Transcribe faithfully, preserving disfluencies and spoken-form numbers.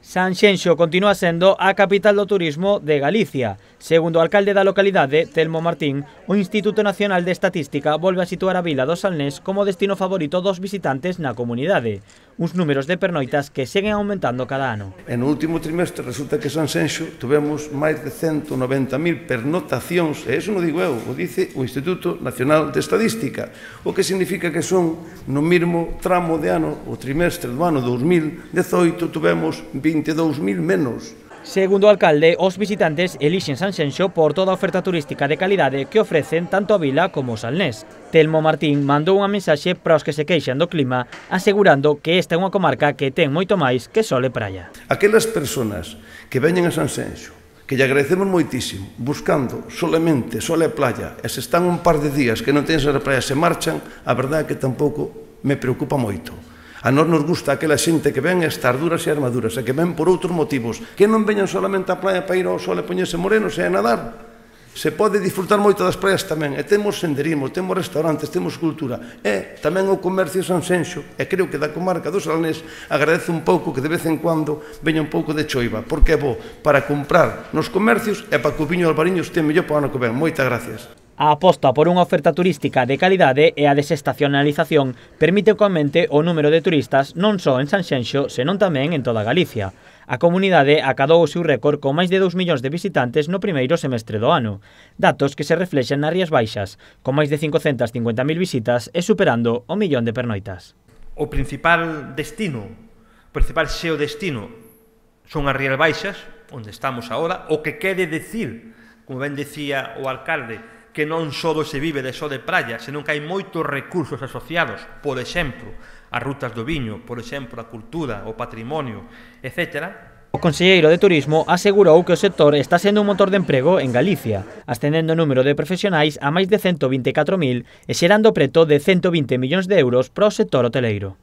Sanxenxo continúa sendo a capital do turismo de Galicia. Segundo o alcalde da localidade, Telmo Martín, o Instituto Nacional de Estatística volve a situar a vila do Salnés como destino favorito dos visitantes na comunidade. Uns números de pernoitas que seguen aumentando cada ano. En o último trimestre resulta que Sanxenxo tivemos máis de ciento noventa mil pernotacións, e iso non digo eu, o dice o Instituto Nacional de Estadística, o que significa que son no mesmo tramo de ano, o trimestre do ano dous mil dezoito, tivemos vinte e dous mil menos. Segundo o alcalde, os visitantes elixen Sanxenxo por toda a oferta turística de calidade que ofrecen tanto a vila como o Salnés. Telmo Martín mandou unha mensaxe para os que se queixan do clima, asegurando que esta é unha comarca que ten moito máis que sol e praia. Aquelas persoas que veñen a Sanxenxo, que lle agradecemos moitísimo, buscando solamente sol e playa, e se están un par de días que non tens a praia se marchan, a verdade é que tampouco me preocupa moito. A nós nos gusta aquela xente que ven estar duras e armaduras, e que ven por outros motivos, que non veñan solamente á praia para ir ao sol e poñerse morenos e a nadar. Se pode disfrutar moito das praias tamén, e temos senderismo, temos restaurantes, temos cultura, e tamén o comercio Sanxenxo, e creo que da comarca do Salnés agradece un pouco que de vez en cuando veña un pouco de choiva, porque é bo para comprar nos comercios e para que o viño Albariño este mellor para o ano que ven. Moitas gracias. A aposta por unha oferta turística de calidade e a desestacionalización permite que aumente o número de turistas non só en Sanxenxo, senón tamén en toda Galicia. A comunidade acadou o seu récord con máis de dous millóns de visitantes no primeiro semestre do ano, datos que se reflexan nas Rías Baixas, con máis de cincocentas cincuenta mil visitas e superando o millón de pernoitas. O principal destino, o principal xeodestino son as Rías Baixas, onde estamos agora, o que quere decir, como ben decía o alcalde, que non só se vive de só de praia, senón que hai moitos recursos asociados, por exemplo, as rutas do viño, por exemplo, a cultura, o patrimonio, etcétera. O conselleiro de Turismo asegurou que o sector está sendo un motor de emprego en Galicia, ascendendo o número de profesionais a máis de cento vinte e catro mil e xerando preto de cento vinte millóns de euros para o sector hoteleiro.